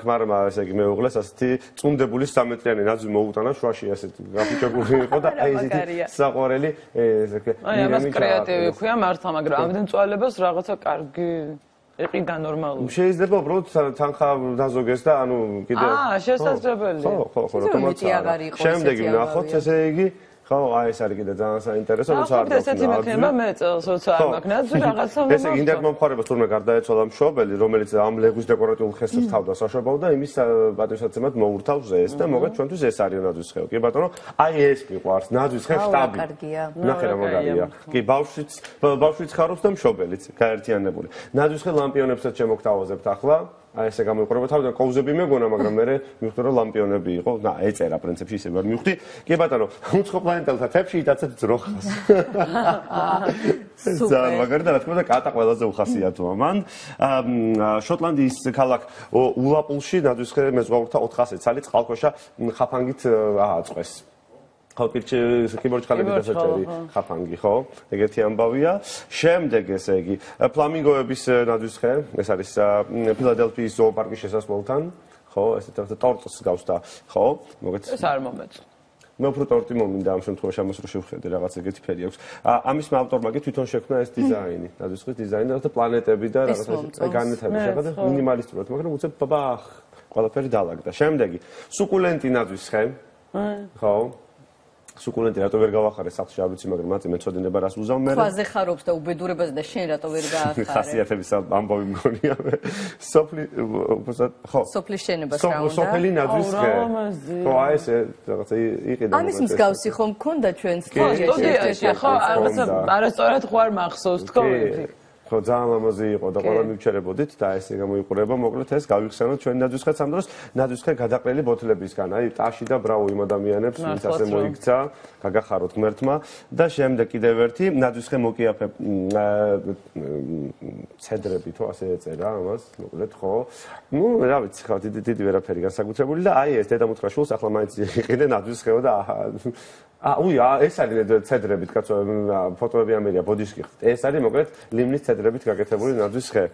მაგრამ ესე იგი მეუღლეს ასეთი წუნდებული 3 მეტრიანი ნაძვი მოუტანა შუაში ასეთი გაფიჩებული იყო და აი ესეთი საყვარელი აი ამას კრეატივი ქვია მართლა, მაგრამ ამდენ წვალებას რაღაცა კარგი იყიდა ნორმალური. შეიძლება უბრალოდ თანხა დაზოგეს და ანუ კიდე შესაძლებელია. ხო, რატომაც შემდეგი ვნახოთ ესე იგი ხო, აი ეს არის კიდე ძალიან საინტერესო, როცა არ დაქვს. ესეთი მექნება მე წელს როცა არ მაქვს ნაძვი რაღაცა ესე იგი ინტერნეტ მომხმარებელს თურმე გარდაეცვალა მშობელი, რომელიც ამ ლეგვის დეკორატიულ ხესს თავდა საშობაო და იმის პატივსაცემად მოურთავს ეს და მოგეთ ჩვენთვის ეს არის ნაძვის ხე. კი ბატონო, აი ეს მიყვარს ნაძვის ხე შტაბი. ნახე რა მაგარია. კი ბავშვიც ხარობს და მშობელიც გაერთიანებული. ნაძვის ხე ლამპიონებსაც შემოგთავაზებთ ახლა. აი ესე გამოიყურება თავიდან კოვზები მეგონა, მაგრამ მე მივხვდი რომ ლამპიონები იყო. და ეწერა პრინციპში ისე ვერ მივხვდი. კი ბატონო, უცხო პლანეტელთა თებში იტაცეთ ძროხას. ძალიან მაგარი და რა თქმა უნდა კატა ყველაზე უხასიათოა მან. შოტლანდიის ქალაქ ულაპულში ნაძვის ხე მეზღვაურთა 400 ცალი წყალქვეშა ხაფანგით ააწყვეს. ხო, კიბორჩ ხალები დასაჭერი ხაფანგი, ხო? ეგეთი ამბავია. შემდეგ ესე იგი, ფლამინგოების ნაძვის ხე, ეს არის ფილადელფიის ზოოპარკის შესასვლელთან, ხო? ესეთ რაღაცა ტორტს გავს და, ხო? მოგეთ. ეს არ მომეწონა. მე უფრო ტორტი მომინდა ამ შემთხვევაში ამას რო შევხედე, რაღაც ეგეთი ფერი აქვს. ამის ავტორმა კი თვითონ შექმნა ეს დიზაინი, ნაძვის ხის დიზაინი, რაღაცა პლანეტები და რაღაცა განვითარება შეხედა მინიმალისტურად, მაგრამ უცებ ბაბახ, ყველაფერი დაალაგდა. შემდეგი, სუკულენტი ნაძვის ხე. ხო? სუკულენტი რატო ვერ გავახარე სახლში არ ვიცი, მაგრამ მაწი მეწოდინება რას უზავ მე. ქვაზე ხარობს და უბედურებას და შენ რატო ვერ გაახარე? ხასიათების ამბავი მგონია მე. ხო. სოფლის შენებას რა უნდა? სოფელი ნაძვის ხე. ხო, აი ესე რაღაცა იყიდა. ამის მსგავსი ხომ მქონდა ჩვენ სტუდიაში, ხო, რაღაცა არასწორად ხوار მახსოვს თქო. ხო, ძალიან ლამაზი იყო და ყველა მივჩერებოდით და ესე გამოიყურება, მოკლედ ეს გავიხსენოთ ჩვენ ნაძვის ხეც ამ დროს, ნაძვის ხე გადაყრილი ბოთლებისგან, აი ტაში და ბრავო იმ ადამიანებს, ვინც ასე მოიქცა, გაგახაროთ ღმერთმა და შემდეგ კიდევ ერთი ნაძვის ხე მოკიაფე ცედრები თუ ასე ეწერა ამას, მოკლედ ხო. ნუ რა ვიცი, ხო, დიდი ვერაფერი განსაკუთრებული და აი ეს დედამუცხრა შულს ახლა მაინც იყიდე ნაძვის ხეო და ეს არის ცედრებით, კაცო, ფოტოები ამერია, ბოდიშკი ხდით. ეს არის მოკლედ ლიმნის ცედრებით გაკეთებული ნაძვის ხე.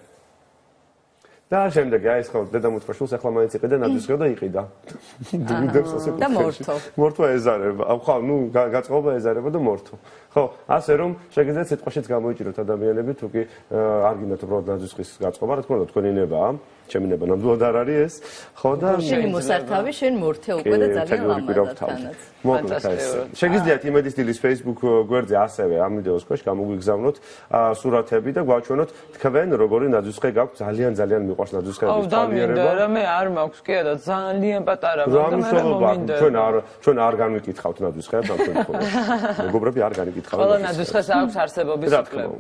და შემდეგი აი ეს ხო დედამუცხრა შულს ახლა მაინც იყიდე ნაძვის ხეო და იყიდა. და მორთო. მორთო ეზარება. ხო, ნუ გაწყობა ეზარება და მორთო. ხო, ასე რომ შეგიძლიათ სიტყვაშიც გამოიჭიროთ ადამიანები, თუ კი არ გინდათ უბრალოდ ნაძვის ხის გაწყობა, რა თქმა უნდა, თქვენი ნებაა. ჩემი ნება ნამდვილად არ არის ეს. ხო და შენი მოსართავი შენ მორთე უკვე და ძალიან ლამაზად. მოკლედ ეს. შეგიძლიათ იმედის დილის Facebook გვერდზე ასევე ამ ვიდეოს ქვეშ გამოგვიგზავნოთ სურათები და გვაჩვენოთ თქვენ როგორი ნაძვის ხე გაქვთ, ძალიან მიყვარს ნაძვის ხეების პლანირება. და მე არ მაქვს კი და ძალიან პატარა, მაგრამ მე მომინდა. ჩვენ არ განვიკითხავთ ნაძვის ხეებს ამ შემთხვევაში. მეგობრები არ განიკითხავთ. ყველა ნაძვის ხეს აქვს არსებობის უფლება.